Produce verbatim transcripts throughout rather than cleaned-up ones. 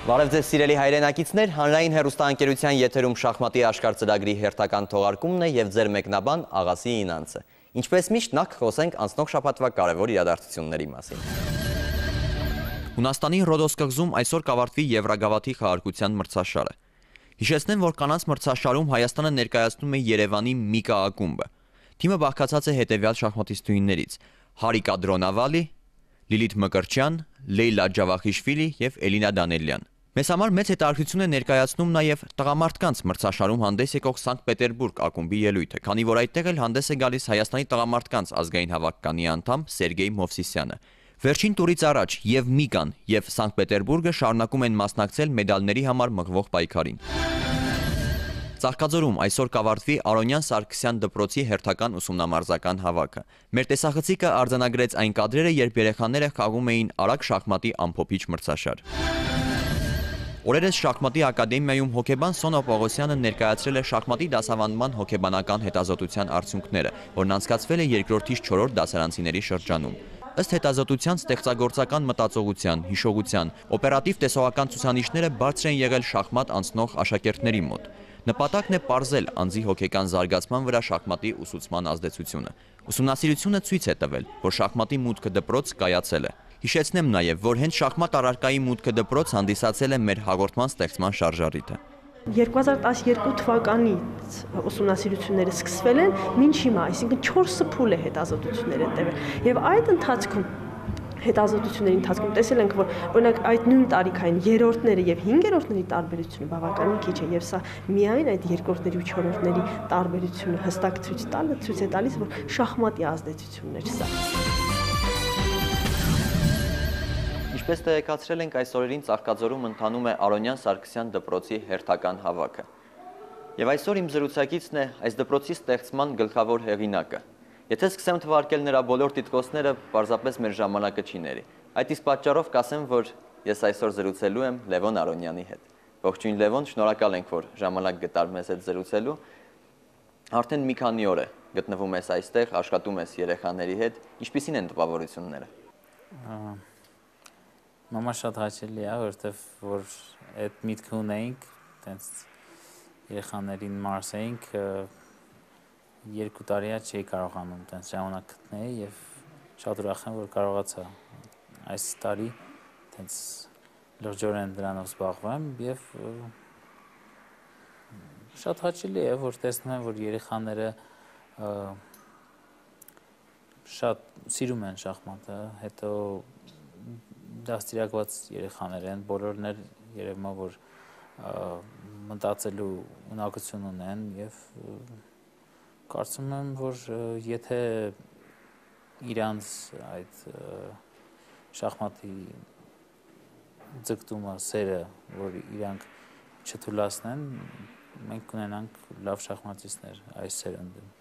Բարև ձեզ սիրելի հայրենակիցներ, հանրային հեռուստաընկերության եթերում շախմատի աշխարհ ծրագրի հերթական թողարկումն է եւ ձեր մեկնաբան Աղասի Ինանցը։ Ինչպես միշտ նախ խոսենք անցնող շաբաթվա կարևոր իրադարձությունների մասին։ Հունաստանի Ռոդոս կղզում այսօր կավարտվի Եվրագավաթի խաղարկության մրցաշարը։ Հիշեցնեմ, որ կանանց մրցաշարում Հայաստանը ներկայացնում է Երևանի Միկա ակումբը։ Թիմը բաղկացած է հետևյալ շախմատիստուհիներից՝ Հարիկա Դրոնավալի, Լիլիթ Մկրտչյան, Լեյլա Ջավախիշվիլի եւ Էլինա Դանելյան։ Մեզ համար մեծ հետաքրքրություն է ներկայացնում նաև տղամարդկանց մրցաշարում հանդես եկող Սանկտ Պետերբուրգ ակումբի ելույթը, քանի որ այդտեղ էլ հանդես է գալիս Հայաստանի տղամարդկանց ազգային հավաքականի անդամ Սերգեյ Մովսիսյանը։ Վերջին տուրից առաջ եւ Միկան եւ Սանկտ Պետերբուրգը շարունակում են մասնակցել մեդալների համար մղվող պայքարին։ Ծաղկաձորում այսօր կավարտվի Արոնյան Սարգսյան դպրոցի հերթական ուսումնամարզական հավաքը։ Մեր տեսախցիկը արձանագրեց այն կադրերը, երբ երեխաները խաղում էին արագ շախմատի ամփոփիչ մրցաշար։ Օրերս շախմատի ակադեմիայում հոկեբան Սոնա Պողոսյանը ներկայացրել է շախմատի դասավանդման հոկեբանական հետազոտության արդյունքները, որն անցկացվել է երկրորդից չորրորդ դասարանցիների շրջանում։ Ըստ հետազոտության ստեղծագործական մտածողության, հիշողության, օպերատիվ տեսողական ցուցանիշները բարձր են եղել շախմատ անցնող աշակերտների մոտ։ Նպատակն է պարզել անձի հոգեկան զարգացման վրա շախմատի ուսուցման ազդեցությունը։ Ուսումնասիրությունը ցույց է տվել, որ շախմատի մուտքը դպրոց կայացել է։ Հիշեցնեմ նաև, որ հենց շախմատ առարկայի մուտքը դպրոց հանդիսացել է մեր հաղորդման ստեղծման շարժառիթը։ երկու հազար տասներկու թվականից ուսումնասիրությունները սկսվել են մինչ հիմա, այսինքն չորս փուլ է հետազոտություններ են տևել։ Եվ այդ ընթացքում հետազոտությունների ընթացքում տեսել ենք, որ օրինակ այդ նույն տարիքային երրորդները եւ հինգերորդների տարբերությունը բավականին քիչ է, եւ սա միայն այդ երկրորդների ու չորրորդների տարբերությունը հստակ ցույց տալը ցույց է տալիս, որ շախմատի ազդեցությունն էր սա։ Ինչպես տեղեկացրել ենք, այս օրերին Ծաղկաձորում ընթանում է Արոնյան Սարգսյան դպրոցի հերթական հավաքը։ Եվ այսօր իմ զրուցակիցն է այս դպրոցի ստեղծման գլխավոր հեղինակը։ Եթե սկսեմ թվարկել նրա բոլոր տիտղոսները, պարզապես մեր ժամանակը չի ների։ Այդ իսկ պատճառով կասեմ, որ ես այսօր զրուցելու եմ Լևոն Արոնյանի հետ։ Ողջույն Լևոն, շնորհակալ ենք, որ ժամանակ գտար մեզ հետ զրուցելու։ Արդեն մի քանի օր է գտնվում ես այստեղ, աշխատում ես երեխաների հետ։ Ինչպիսին են տպավորությունները։ Մամա շատ հաճելի է, որովհետև որ այդ միտքը ունեինք, տենց երեխաներին մարսեինք, երկու տարի է չէի կարողանում տենց ժամանակ գտնել եւ շատ ուրախ եմ, որ կարողացա այս տարի տենց լրջորեն դրանով զբաղվեմ եւ շատ հաճելի է, որ տեսնում եմ, որ երեխաները շատ սիրում են շախմատը, հետո դաստիարակված երեխաներ են, բոլորն էլ երևում է, որ մտածելու ունակություն ունեն եւ կարծում եմ, որ եթե իրանց այդ շախմատի ձգտումը, սերը, որ իրանք չթուլացնեն, մենք կունենանք լավ շախմատիստներ այս սերնդում։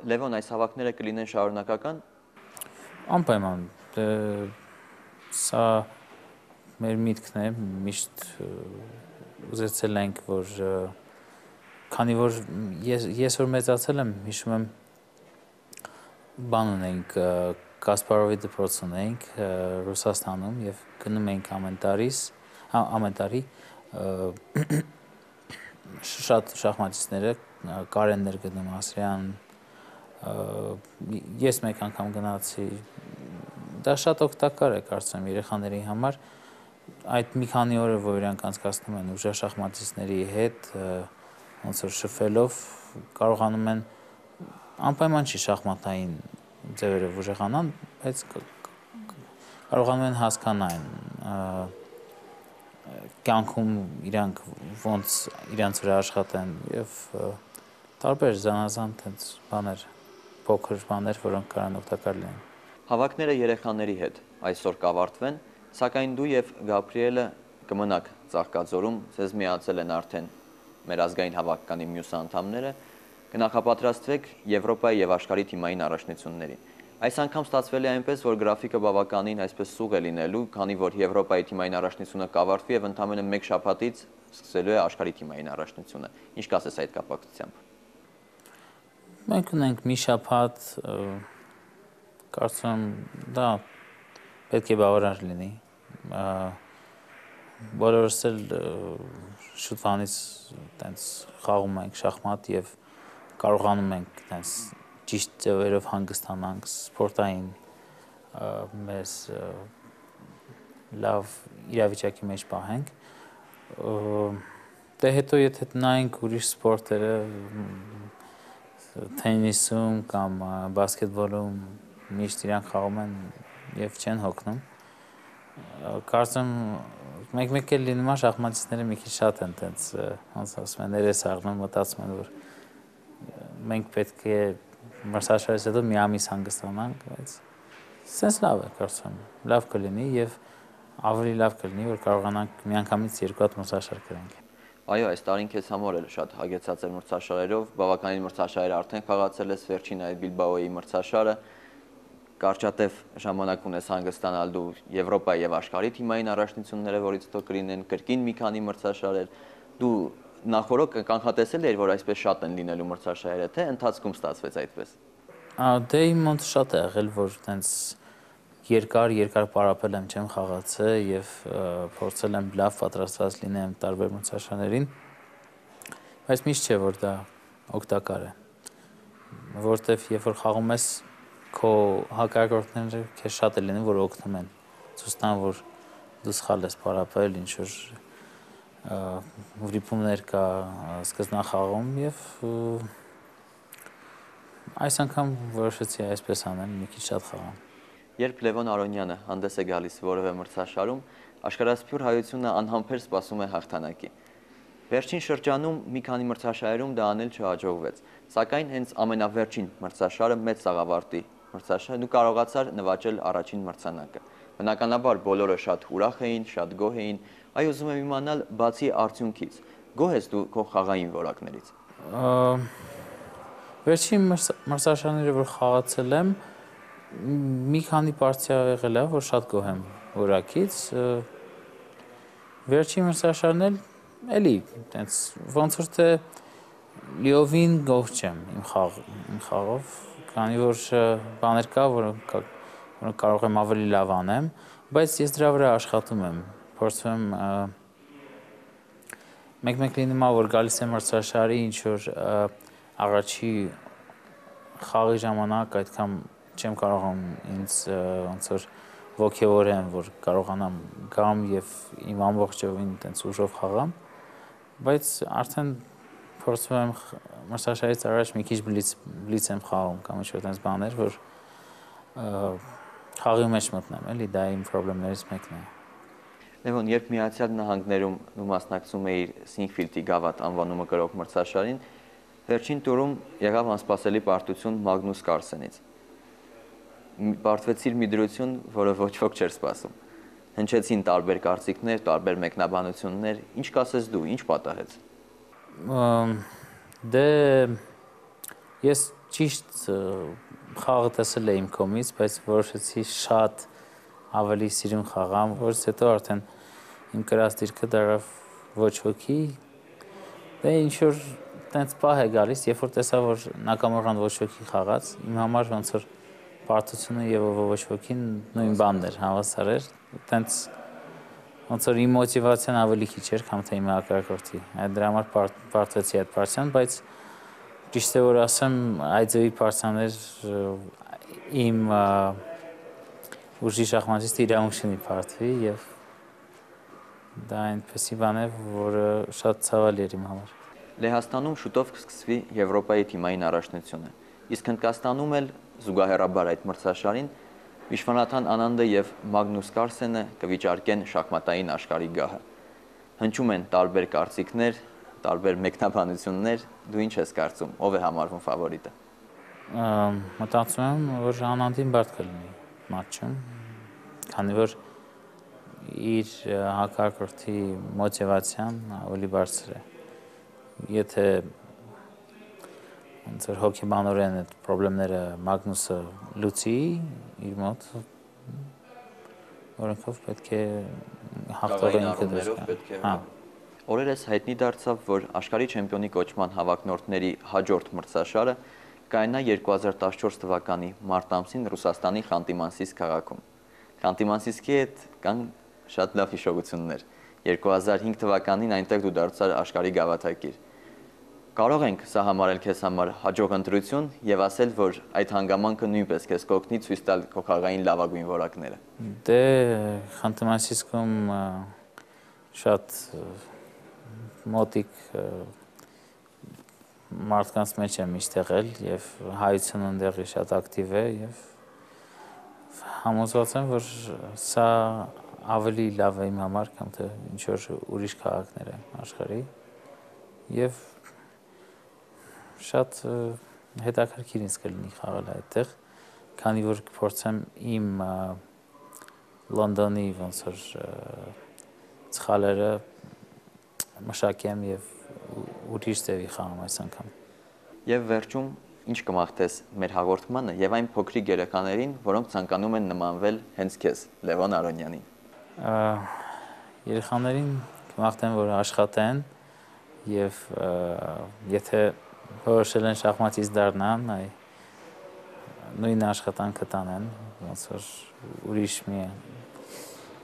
Լևոն, այս հավաքները կլինեն շարունակական։ Անպայման, սա մեր միտքն է, միշտ ուզեցել ենք, որ քանի որ ես, ես որ մեծացել եմ, հիշում եմ բան ունենք, Կասպարովի դպրոց ունենք Ռուսաստանում եւ գնում ենք ամեն տարիս, ամեն տարի շատ շախմատիստները, Կարեններ գնում, Ասրյան, ես մեկ անգամ գնացի, դա շատ օգտակար է կարծում երեխաների համար, այդ մի քանի օրը, որ իրանք անցկացնում են ուժեղ շախմատիստների հետ, ոնց որ շփվելով կարողանում են անպայման չի շախմատային ձևերով ուժեղանան, բայց կարողանում են հասկանալ կյանքում իրանք ոնց իրանց վրա աշխատեն եւ տարբեր զանազան տենց բաներ, փոքր բաներ, որոնք կարող օգտակար լինեն։ Հավաքները երեխաների հետ այսօր կավարտվեն, սակայն դու եւ Գաբրիելը կմնաք Ծաղկաձորում, ձեզ միացել են արդեն մեր ազգային հավաքականի մյուս անդամները, կնախապատրաստվեք Եվրոպայի եւ աշխարհի թիմային առաջնություններին։ Այս անգամ ստացվել է այնպես, որ գրաֆիկը բավականին այսպես սուղ է լինելու, քանի որ Եվրոպայի թիմային առաջնությունը կավարտվի եւ ընդամենը մեկ շաբաթից սկսելու է աշխարհի թիմային առաջնությունը։ Ինչ կասես այդ կապակցությամբ։ Մենք ունենք մի շաբաթ, կարծում դա պետք է բավարար լինի։ բոլորս էլ շուտվանից տենց խաղում ենք շախմատ եւ կարողանում ենք տենց ճիշտ ձևերով հանգստանանք սպորտային մեզ լավ իրավիճակի մեջ պահենք դե հետո եթե նայենք ուրիշ սպորտերը թենիսում կամ բասկետբոլում միշտ իրանք խաղում են եւ չեն հոգնում կարծեմ մեկ-մեկ էլ լինում է շախմատիստները մի քիչ շատ են տենց ոնց ասում են ներես առնում մտածում են որ մենք պետք է մրցաշարից հետո մի ամիս հանգստանանք բայց սենց լավ է կարծեմ լավ կլինի եւ ավելի լավ կլինի որ կարողանանք միանգամից երկու հատ մրցաշար գրենք Այո, այս տարին քեզ համար էլ շատ հագեցած էր մրցաշարերով, բավականին մրցաշարեր արդեն խաղացել ես, վերջին այդ Բիլբաոյի մրցաշարը, կարճատև ժամանակ ունես հանգստանալ դու Եվրոպայի եւ աշխարհի թիմային առաջնությունները, որից հետո կլինեն կրկին մի քանի մրցաշարեր, դու նախորդ կանխատեսել էիր, որ այսպես շատ են լինելու մրցաշարերը, թե ընթացքում ստացվեց այդպես։ Դե իմ մոտ շատ է եղել, որ տենց երկար երկար պարապել եմ չեմ խաղացել եւ փորձել եմ լավ պատրաստված լինեմ տարբեր մրցաշարերին բայց միշտ չէ որ դա օգտակար է որտեվ երբ որ խաղում ես քո հակառակորդները քեզ շատ է լինում որ օգնում են ցույց տան որ դու սխալ ես պարապել ինչ որ վրիպումներ կա սկզբնախաղում եւ այս անգամ որոշեցի այսպես անեմ մի քիչ շատ խաղամ Երբ Լևոն Արոնյանը հանդես է գալիս որևէ մրցաշարում, աշխարհասփյուր հայությունը անհամբեր սպասում է հաղթանակի։ Վերջին շրջանում մի քանի մրցաշարերում դա անել չհաջողվեց, սակայն հենց ամենավերջին մրցաշարը մեծ սաղավարտի մրցաշարը դու կարողացար նվաճել առաջին մրցանակը։ Բնականաբար բոլորը շատ ուրախ էին, շատ գոհ էին, այ ուզում եմ իմանալ բացի արդյունքից, գոհ ես դու քո խաղային որակներից։ Վերջին մրցաշարները որ խաղացել եմ մի քանի պարտիա եղել է, որ շատ գոհ եմ որակից։ Վերջին մրցաշարն էլ էլի, տենց ոնց որ թե լիովին գոհ չեմ իմ խաղ իմ խաղով, քանի որ բաներ կա, որոնք որոնք կարող եմ ավելի լավ անեմ, բայց ես դրա վրա աշխատում եմ, փորձում եմ մեկ-մեկ լինում է, որ գալիս եմ մրցաշարի ինչ որ առաջի խաղի ժամանակ այդքան չեմ կարողանում ինձ ոնց որ ոգևորեմ, որ կարողանամ գամ եւ իմ ամբողջովին տենց ուժով խաղամ, բայց արդեն փորձում եմ մրցաշարից առաջ մի քիչ բլից բլից եմ խաղում կամ ինչ-որ տենց բաներ, որ խաղի մեջ մտնեմ, էլի դա իմ խնդիրներից մեկն է։ Լևոն, երբ Միացյալ Նահանգներում դու մասնակցում էիր Սինգֆիլդի գավաթ անվանումը կրող մրցաշարին, վերջին տուրում եղավ անսպասելի պարտություն Մագնուս Կարլսենից։ Պարտվեցիր մի դրություն, որը ոչ ոք չէր սպասում։ Հնչեցին տարբեր կարծիքներ, տարբեր մեկնաբանություններ, ինչ կասես դու, ինչ պատահեց։ Դե ես ճիշտ խաղը տեսել եմ կողմից, բայց որոշեցի շատ ավելի սիրուն խաղամ, որից հետո արդեն իմ կրած դիրքը դարավ ոչ ոքի։ Դե ինչ որ տենց պահ է գալիս, երբ որ տեսա, որ նակամորան ոչ ոքի խաղաց, իմ համար ոնց որ պարտությունը եւ ոչ ոքին նույն բանն էր, հավասար էր, տենց ոնց որ իմ մոտիվացիան ավելի քիչ էր, քան թե իմ հակառակորդի։ Այդ դրա համար պարտվեցի այդ պարտիան, բայց ճիշտ է որ ասեմ, այդ ձևի պարտիաներ իմ ուժի շախմատիստը իրավունք չունի պարտվի եւ դա այնպեսի բան է, որը շատ ցավալի էր իմ համար։ Լեհաստանում շուտով կսկսվի Եվրոպայի թիմային առաջնությունը, իսկ Հնդկաստանում էլ զուգահեռաբար այդ մրցաշարին Վիշվանաթան Անանդը եւ Մագնուս Կարլսենը կվիճարկեն շախմատային աշխարհի գահը։ Հնչում են տարբեր կարծիքներ, տարբեր մեկնաբանություններ, դու ինչ ես կարծում, ով է համարվում ֆավորիտը։ Մտածում եմ, որ Անանդին բարդ կլինի մատչում, քանի որ իր հակառակորդի մոտիվացիան ավելի բարձր է։ Եթե ոնց որ հոգեբանորեն այդ խնդիրները Մագնուսը լուծի իր մոտ, որոնքով պետք է հաղթողը ինքը դժգա։ Հա։ Օրերս հայտնի դարձավ, որ աշխարհի չեմպիոնի կոչման հավակնորդների հաջորդ մրցաշարը կայանա երկու հազար տասնչորս թվականի մարտ ամսին Ռուսաստանի Խանտի-Մանսիսկ քաղաքում։ Խանտի-Մանսիսկի հետ կան շատ լավ հիշողություններ։ երկու հազար հինգ թվականին այնտեղ դու դարձար աշխարհի գավաթակիր։ Կարող ենք սա համարել քեզ համար հաջող ընտրություն եւ ասել, որ այդ հանգամանքը նույնպես քեզ կօգնի ցույց տալ քո խաղային լավագույն որակները։ Դե Խանթ-Մансիսկում շատ մոտիկ մարդկանց մեջ եմ միշտ եղել եւ հայությունը ընդեղի շատ ակտիվ է եւ համոզված եմ, որ սա ավելի լավ է իմ համար, քան թե ինչ որ ուրիշ քաղաքներ են աշխարհի եւ շատ հետաքրքիր ինձ կլինի խաղալ այդտեղ, քանի որ կփորձեմ իմ Լոնդոնի ոնց որ ցխալերը մշակեմ եւ ուրիշ ձևի խաղամ այս անգամ։ Եվ վերջում ինչ կմաղթես մեր հաղորդմանը եւ այն փոքրիկ երեխաներին, որոնք ցանկանում են նմանվել հենց քեզ, Լևոն Արոնյանին։ Երեխաներին կմաղթեմ, որ աշխատեն եւ եթե որոշել են շախմատից դառնան, այ նույն աշխատանքը տանեն, ոնց որ ուրիշ մի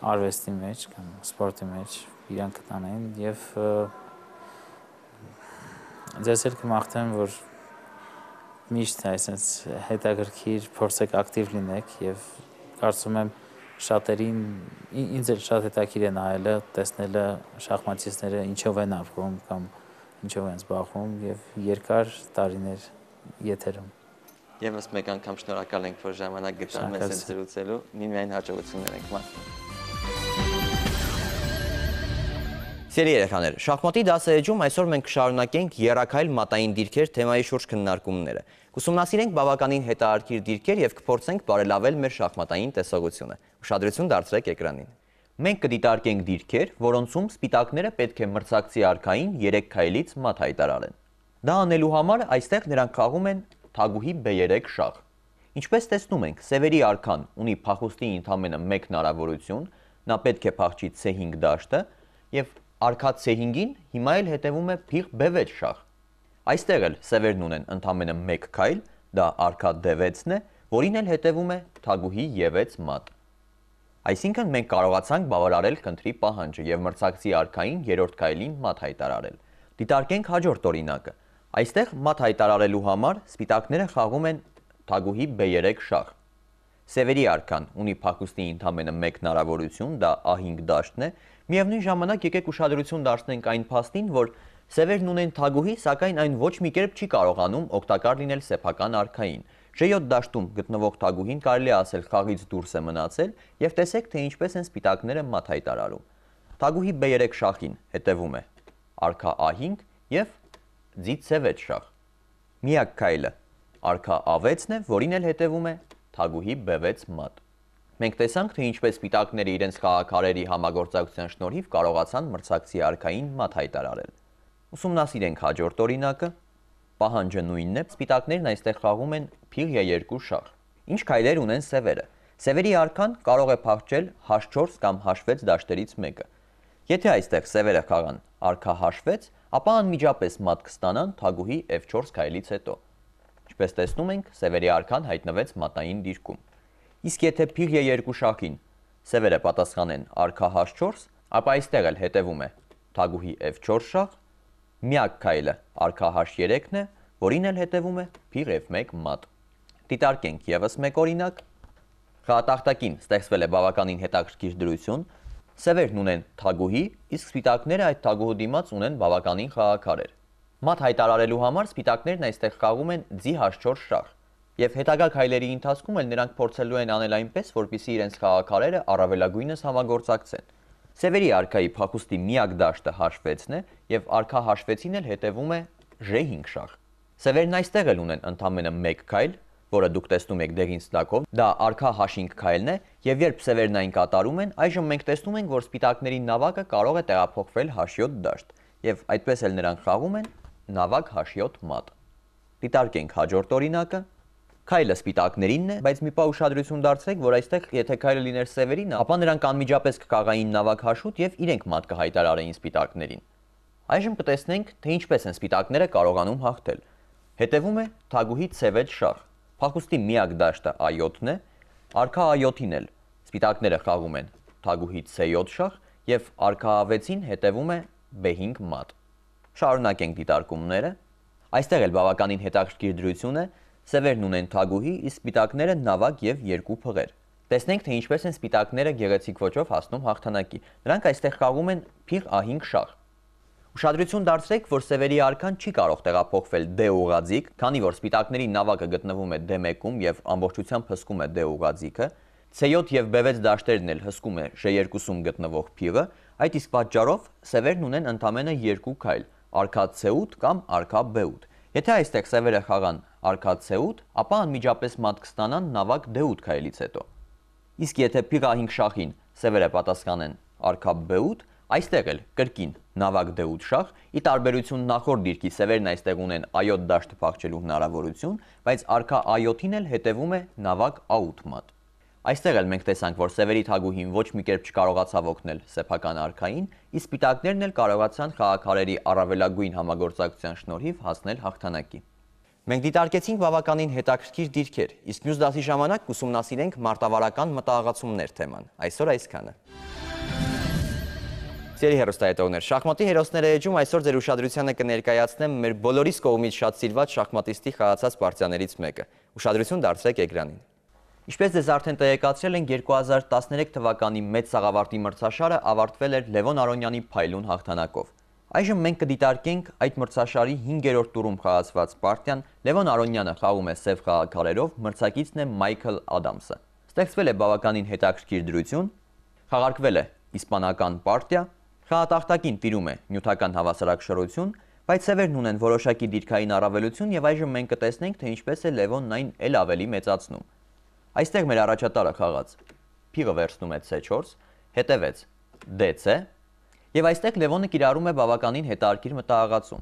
արվեստի մեջ կամ սպորտի մեջ իրանք տանեն եւ ձեզ էլ կմաղթեմ, որ միշտ այսպես հետաքրքիր փորձեք ակտիվ լինեք եւ կարծում եմ շատերին ինձ էլ շատ հետաքրքիր է նայելը, տեսնելը շախմատիստները ինչով են ապրում կամ ինչով են զբաղվում եւ երկար տարիներ եթերում։ Եվս մեկ անգամ շնորհակալ ենք, որ ժամանակ գտան մեզ հետ զրուցելու, միմիայն հաջողություններ ենք մաղթում։ Սիրելի երեխաներ, շախմատի դասերեջում այսօր մենք կշարունակենք եռաքայլ մատային դիրքեր թեմայի շուրջ քննարկումները։ Կուսումնասիրենք բավականին հետաքրքիր դիրքեր եւ կփորձենք բարելավել մեր շախմատային տեսողությունը։ Ուշադրություն դարձրեք էկրանին։ Մենք կդիտարկենք դիրքեր, որոնցում սպիտակները պետք է մրցակցի արքային երեք քայլից մատ հայտարարեն։ Դա անելու համար այստեղ նրանք խաղում են թագուհի բե երեք շախ։ Ինչպես տեսնում ենք, սևերի արքան ունի փախուստի ընդամենը մեկ հնարավորություն, նա պետք է փախչի ցե հինգ դաշտը եւ արքա ցե հինգին հիմա էլ հետևում է փիղ բե վեց շախ։ Այստեղ էլ սևերն ունեն ընդամենը մեկ քայլ, դա արքա դե վեցն է, որին էլ հետևում է թագուհի է վեց մատ։ Այսինքն մենք կարողացանք բավարարել քննի պահանջը եւ մրցակցի արքային երրորդ քայլին մատ հայտարարել։ Դիտարկենք հաջորդ օրինակը։ Այստեղ մատ հայտարարելու համար սպիտակները խաղում են թագուհի բե երեք շախ։ Սևերի արքան ունի փախուստի ընդամենը մեկ հնարավորություն, դա ա հինգ դաշտն է, միևնույն ժամանակ եկեք ուշադրություն դարձնենք այն փաստին, որ սևերն ունեն թագուհի, սակայն այն ոչ մի կերպ չի կարողանում օգտակար լինել սեփական արքային։ Ժե յոթ դաշտում գտնվող թագուհին կարելի է ասել խաղից դուրս է մնացել եւ տեսեք թե ինչպես են սպիտակները մատ հայտարարում։ Թագուհի բե երեք շախին հետևում է արքա ա հինգ եւ ձի ցե վեց շախ։ Միակ քայլը արքա ա վեցն է, որին էլ հետևում է թագուհի բե վեց մատ։ Մենք տեսանք, թե ինչպես սպիտակները իրենց խաղաքարերի համագործակցության շնորհիվ կարողացան մրցակցի արքային մատ հայտարարել։ Ուսումնասիրենք հաջորդ օրինակը։ Պահանջը նույնն է, սպիտակներն այստեղ խաղում են փիղ է երկու շախ։ Ինչ քայլեր ունեն սևերը։ Սևերի արքան կարող է փախչել հաչ չորս կամ հաչ վեց դաշտերից մեկը։ Եթե այստեղ սևերը խաղան արքա հաչ վեց, ապա անմիջապես մատ կստանան թագուհի էֆ չորս քայլից հետո։ Ինչպես տեսնում ենք, սևերի արքան հայտնվեց մատային դիրքում։ Իսկ եթե փիղ է երկու շախին սևերը պատասխանեն արքա հաչ չորս, ապա այստեղ էլ հետևում է թագուհի էֆ չորս շախ, միակ քայլը արքա հաչ երեքն է, որին էլ հետևում է փիղ էֆ մեկ մատ։ Դիտարկենք եւս մեկ օրինակ։ Խաղատախտակին ստեղծվել է բավականին հետաքրքիր դրություն։ Սևերն ունեն թագուհի, իսկ սպիտակները այդ թագուհու դիմաց ունեն բավականին խաղաքարեր։ Մատ հայտարարելու համար սպիտակներն այստեղ խաղում են ձի հաչ չորս շախ։ Եվ հետագա քայլերի ընթացքում էլ նրանք փորձելու են անել այնպես, որպեսզի իրենց խաղաքարերը առավելագույնս համագործակցեն։ Սևերի արքայի փախուստի միակ դաշտը հաչ վեցն է եւ արքա հաչ վեցին էլ հետևում է ժե հինգ շախ։ Սևերն այստեղ էլ ունեն ընդամենը մեկ քայլ, որը դուք տեսնում եք դեղին ստակով, դա արքա հաչ հինգ քայլն է, եւ երբ սևերն այն կատարում են, այժմ մենք տեսնում ենք, որ սպիտակների նավակը կարող է տեղափոխվել հաչ յոթ դաշտ, եւ այդպես էլ նրանք խաղում են նավակ հաչ յոթ մատ։ Դիտարկենք հաջորդ օրինակը։ Քայլը սպիտակներինն է, բայց մի պահ ուշադրություն դարձրեք, որ այստեղ եթե քայլը լիներ սևերին, ապա նրանք անմիջապես կկաղային նավակ հաշուտ եւ իրենք մատ կհայտարարեին սպիտակներին։ Այժմ կտեսնենք, թե ինչպես են սպիտակները կարողանում հաղթել։ Հետևում է թագուհի ցե վեց շախ։ Փախուստի միակ դաշտը ա յոթն է, արքա ա յոթին էլ սպիտակները խաղում են թագուհի ցե յոթ շախ եւ արքա վեցին հետևում է բե հինգ մատ։ Շարունակենք դիտարկումները։ Այստեղ էլ բավականին հետաքրքիր դրություն է, սևերն ունեն թագուհի, իսկ սպիտակները նավակ եւ երկու փղեր։ Տեսնենք, թե ինչպես են սպիտակները գեղեցիկ ոճով հասնում հաղթանակի։ Նրանք այստեղ խաղում են փիղ ա հինգ շախ։ Ուշադրություն դարձրեք, որ սևերի արքան չի կարող տեղափոխվել դե ուղղաձիգ, քանի որ սպիտակների նավակը գտնվում է դե մեկում եւ ամբողջությամբ հսկում է դե ուղղաձիգը, ցե յոթ եւ բե վեց դաշտերն էլ հսկում է ժե երկուսում գտնվող փիղը, այդ իսկ պատճառով սևերն ունեն ընդամենը երկու քայլ՝ արքա ցե ութ կամ արքա բե ութ։ Եթե այստեղ սևերը խաղան արքա ցե ութ, ապա անմիջապես մատ կստանան նավակ դե ութ քայլից հետո։ Իսկ եթե փիղ ա հինգ շախին սևերը պատասխանեն արքա բե ութ, այստեղ էլ կրկին նավակ դե ութ շախ, ի տարբերություն նախորդ դիրքի սևերն այստեղ ունեն ա յոթ դաշտը փախչելու հնարավորություն, բայց արքա ա յոթին էլ հետևում է նավակ ա ութ մատ։ Այստեղ էլ մենք տեսանք, որ սևերի թագուհին ոչ մի կերպ չկարողացավ օգնել սեփական արքային, իսկ սպիտակներն էլ կարողացան խաղաքարերի առավելագույն համագործակցության շնորհիվ հասնել հաղթանակի։ Մենք դիտարկեցինք բավականին հետաքրքիր դիրքեր, իսկ մյուս դասի ժամանակ կուսումնասիրենք մարտավարական մտահղացումներ թեման։ Այսօր այսքանը։ Սիրելի հեռուստադիտողներ, շախմատի հերոսները էջում այսօր ձեր ուշադրությանը կներկայացնեմ մեր բոլորիս կողմից շատ սիրված շախմատիստի խաղացած պարտիաներից մեկը։ Ուշադրություն դարձրեք էկրանին։ Ինչպես ձեզ արդեն տեղեկացրել ենք, երկու հազար տասներեք թվականի մեծ սաղավարտի մրցաշարը ավարտվել էր Լևոն Արոնյանի փայլուն հաղթանակով։ Այժմ մենք կդիտարկենք այդ մրցաշարի հինգերորդ տուրում խաղացված պարտիան։ Լևոն Արոնյանը խաղում է սև խաղաքարերով, մրցակիցն է Մայքլ Ադամսը։ Ստեղծվել է բավականին հետաքրքիր դրություն, խաղարկվել է իսպանական պարտիա, խաղատախտակին տիրում է նյութական հավասարակշռություն, բայց սևերն ունեն որոշակի դիրքային առավելություն եւ այժմ մենք կտեսնենք, թե ինչպես է Լևոնն այն էլ ավելի մեծացնում։ Այստեղ մեր առաջատարը խաղաց փիղը վերցնում է ցե չորս, հետևեց դե ցե, եւ այստեղ Լևոնը կիրառում է բավականին հետաքրքիր մտահղացում։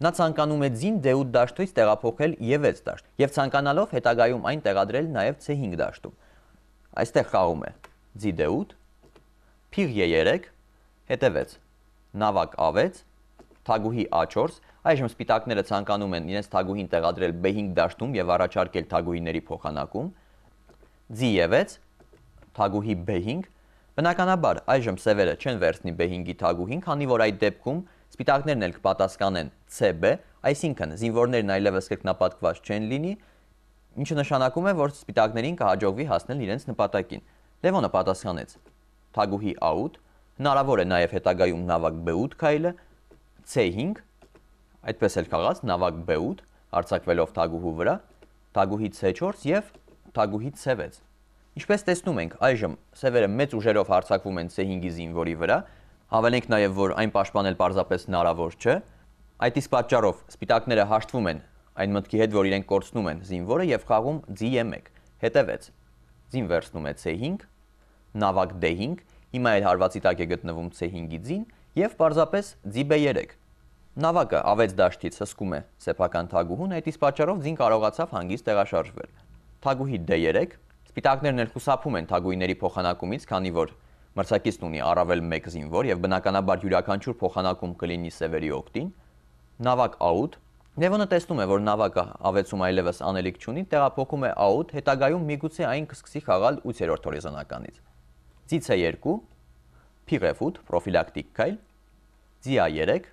Նա ցանկանում է ձին դե ութ դաշտից տեղափոխել է վեց դաշտ եւ ցանկանալով հետագայում այն տեղադրել նաեւ ցե հինգ դաշտում։ Այստեղ խաղում է ձի դե ութ, փիղ է երեք, հետևեց նավակ ա վեց, թագուհի ա չորս, այժմ սպիտակները ցանկանում են իրենց թագուհին տեղադրել բե հինգ դաշտում եւ առաջարկել թագուհիների փոխանակում, ձի է վեց, թագուհի բե հինգ, բնականաբար այժմ սևերը չեն վերցնի բե հինգի թագուհին, քանի որ այդ դեպքում սպիտակներն էլ կպատասխանեն ցե բե, այսինքն զինվորներն այլևս կրկնապատկված չեն լինի, ինչը նշանակում է, որ սպիտակներին կհաջողվի հասնել իրենց նպատակին։ Լևոնը պատասխանեց թագուհի ա ութ, հնարավոր է նաև հետագայում նավակ բե ութ քայլը, ցե հինգ, այդպես էլ խաղաց նավակ բե ութ, արձակվելով թագուհու վրա, թագուհի ցե չորս եւ թագուհի ցե վեց։ Ինչպես տեսնում ենք, այժմ սևերը մեծ ուժերով հարձակվում են ցե հինգի զինվորի վրա, հավելենք նաև, որ այն պաշտպանել պարզապես հնարավոր չէ։ Այդ իսկ պատճառով սպիտակները հաշտվում են այն մտքի հետ, որ իրենք կորցնում են զինվորը եւ խաղում ձի է մեկ, հետևեց ձին վերցնում է ցե հինգ, նավակ դե հինգ, հիմա էլ հարվածի տակ է գտնվում ցե հինգի ձին եւ պարզապես ձի բե երեք։ Նավակը ա վեց դաշտից հսկում է սեփական թագուհուն, այդ իսկ պատճառով ձին կարողացավ հանգիստ տեղաշարժվել։ Թագուհի դե երեք, սպիտակներն էլ խուսափում են թագուհիների փոխանակումից, քանի որ մրցակիցն ունի առավել մեկ զինվոր եւ բնականաբար յուրաքանչյուր փոխանակում կլինի սևերի օգտին։ Նավակ ա ութ, Լևոնը տեսնում է, որ նավակը ա վեցում այլևս անելիք չունի, տեղափոխում է ա ութ, հետագայում միգուցե այն կսկսի խաղալ ութերորդ հորիզոնականից։ Ձի ցե երկու, փիղ էֆ ութ, պրոֆիլակտիկ քայլ, ձի ա երեք,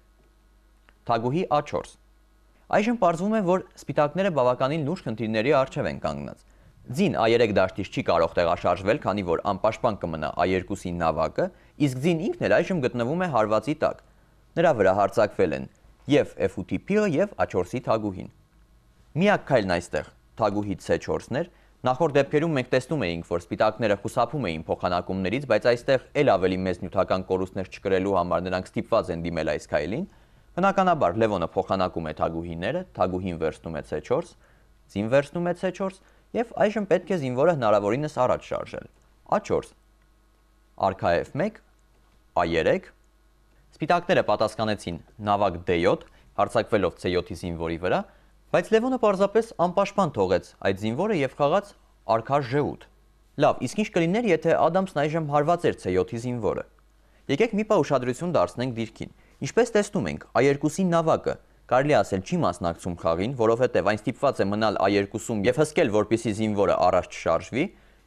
թագուհի ա չորս։ Այժմ պարզվում է, որ սպիտակները բավականին լուրջ խնդիրների առջև են կանգնած։ Ձին ա երեք դաշտից չի կարող տեղաշարժվել, քանի որ անպաշտպան կմնա ա երկուսի նավակը, իսկ ձին ինքն էլ այժմ գտնվում է հարվածի տակ։ Նրա վրա հարձակվել են եւ էֆ ութի փիղը եւ ա չորսի թագուհին։ Միակ քայլն այստեղ թագուհի ցե չորսն էր։ Նախորդ դեպքերում մենք տեսնում էինք, որ սպիտակները խուսափում էին փոխանակումներից, բայց այստեղ էլ ավելի մեծ նյութական կորուստներ չկրելու համար նրանք ստիպված են դիմել այս քայլին։ Բնականաբար Լևոնը փոխանակում է թագուհիները, թագուհին վերցնում է ցե չորս, ձին վերցնում է ցե չորս եւ այժմ պետք է զինվորը հնարավորինս առաջ շարժել։ ա չորս, արքա էֆ մեկ, ա երեք, սպիտակները պատասխանեցին նավակ դե յոթ, հարձակվելով ցե յոթի զինվորի վրա, բայց Լևոնը պարզապես անպաշտպան թողեց այդ զինվորը եւ խաղաց արքա ժե ութ։ Լավ, իսկ ինչ կլիներ, եթե Ադամսն այժմ հարված էր ցե յոթի զինվորը։ Եկեք մի պահ ուշադրություն դարձնենք դիրքին։ Ինչպես տեսնում ենք, ա երկուսի նավակը կարելի ասել չի մասնակցում խաղին, որովհետև այն ստիպված է մնալ ա երկուսում եւ հսկել, որպեսզի զինվորը առաջ չշարժվի,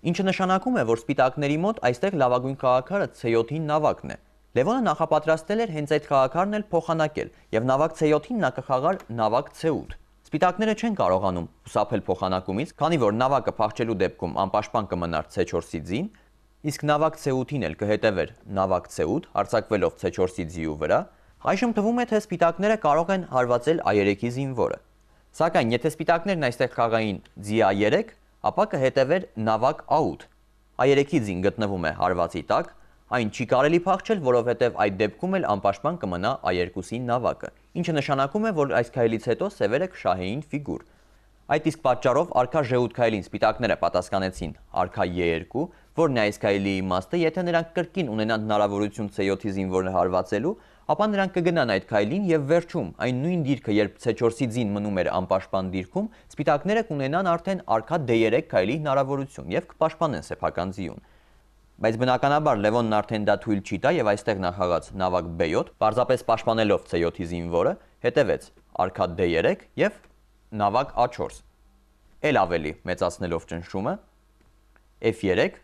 ինչը նշանակում է, որ սպիտակների մոտ այստեղ լավագույն քաղաքարը ցե յոթի նավակն է։ Լևոնը նախապատրաստել էր հենց այդ խաղաքարն էլ փոխանակել եւ նավակ ցե յոթին նա կխաղար նավակ ցե ութ։ Սպիտակները չեն կարողանում խուսափել փոխանակումից, քանի որ նավակը փախչելու դեպքում անպաշտպան կմնար ցե չորսի ձին, իսկ նավակ ցե ութին էլ կհետևեր նավակ ցե ութ, արձակվելով ցե չորսի ձիու վրա։ Այժմ թվում է, թե սպիտակները կարող են հարվածել Ա երեքի զինվորը։ Սակայն եթե սպիտակներն այստեղ խաղային ձի Ա երեք, ապա կհետևեր նավակ Ա ութ։ Ա երեքի ձին գտնվում է հարվածի տակ, այն չի կարելի փախչել, որովհետև այդ դեպքում էլ անպաշտպան կմնա Ա երկուսի նավակը, ինչը նշանակում է, որ այս քայլից հետո սևերը կշահեին ֆիգուր։ Այդ իսկ պատճառով արքա Ժ ութ քայլին սպիտակները պատասխանեցին արքա Ե երկու, որն է այս քայլի իմաստը, եթե նրանք կրկին ունենան հնարավորություն ցե յոթի զինվորը հարվածելու, ապա նրանք կգնան այդ քայլին եւ վերջում այն նույն դիրքը, երբ ցե չորսի ձին մնում էր անպաշտպան դիրքում, սպիտակները կունենան արդեն արքա Դ երեք քայլի հնարավորություն եւ կպաշտպանեն սեփական ձիուն։ Բայց բնականաբար Լևոնն արդեն դա թույլ չի տա եւ այստեղ նա խաղաց նավակ Բ յոթ, պարզապես պաշտպանելով ցե յոթի զինվորը, հետևեց արքա Դ երեք եւ նավակ Ա չորս։ Էլ ավելի մեծացնելով ճնշումը Ֆ երեք,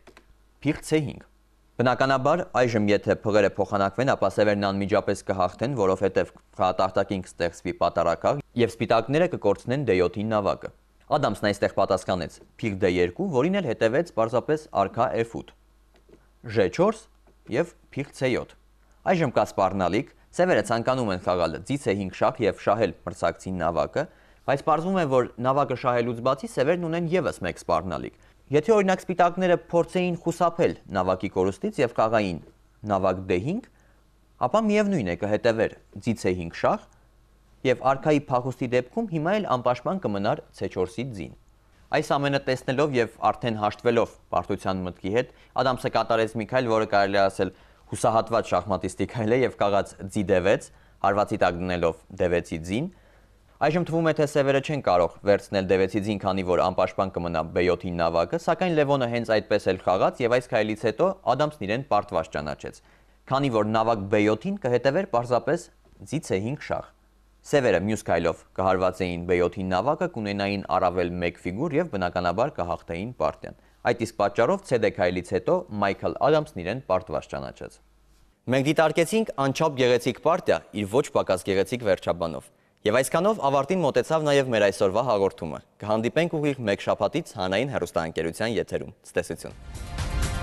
փիղ ցե հինգ։ Բնականաբար այժմ եթե փղերը փոխանակվեն, ապա սևերն անմիջապես կհաղթեն, որովհետև խաղատախտակին կստեղծվի պատարակախ եւ սպիտակները կկորցնեն Դ յոթի նավակը։ Ադամսն այստեղ պատասխանեց փիղ Դ երկու, որին էլ հետևեց պարզապես արքա Ֆ ութ, Ժ չորս եւ փիղ ցե յոթ։ Այժմ կա սպառնալիք, սևերը ցանկանում են խաղալ ձի ցե հինգ շախ եւ շահել մրցակցի նավակը, բայց պարզվում է, որ նավակը շահելուց բացի սևերն ունեն եւս մեկ սպառնալիք։ Եթե օրինակ սպիտակները փորձեին խուսափել նավակի կորուստից եւ խաղային նավակ Դ հինգ, ապա միևնույն է կհետևեր ձի ցե հինգ շախ եւ արքայի փախուստի դեպքում հիմա էլ անպաշտպան կմնար ցե չորսի ձին։ Այս ամենը տեսնելով եւ արդեն հաշտվելով պարտության մտքի հետ, Ադամսը կատարեց մի քայլ, որը կարելի է ասել հուսահատված շախմատիստի քայլ է եւ խաղաց ձի Դ վեց, հարվածի տակ դնելով Դ վեցի ձին։ Այժմ թվում է, թե սևերը չեն կարող վերցնել Դ վեցի ձին, քանի որ անպաշտպան կմնա Բ յոթի նավակը, սակայն Լևոնը հենց այդպես էլ խաղաց եւ այս քայլից հետո Ադամսն իրեն պարտված ճանաչեց, քանի որ նավակ Բ յոթին կհետևեր պարզապես ձի ցե հինգ շախ։ Սևերը մյուս քայլով կհարվածեին Բ յոթի նավակը, կունենային առավել մեկ ֆիգուր եւ բնականաբար կհաղթեին պարտիան։ Այդ իսկ պատճառով ցե Դ քայլից հետո Մայքլ Ադամսն իրեն պարտված ճանաչեց։ Մենք դիտարկեցինք անչափ գեղեցիկ պարտիա իր ոչ պակաս գեղեցիկ վերջաբանով։ Եվ այսքանով ավարտին մոտեցավ նաև մեր այսօրվա հաղորդումը։ Կհանդիպենք ուղիղ մեկ շաբաթից հանրային հեռուստաընկերության եթերում։ Ցտեսություն։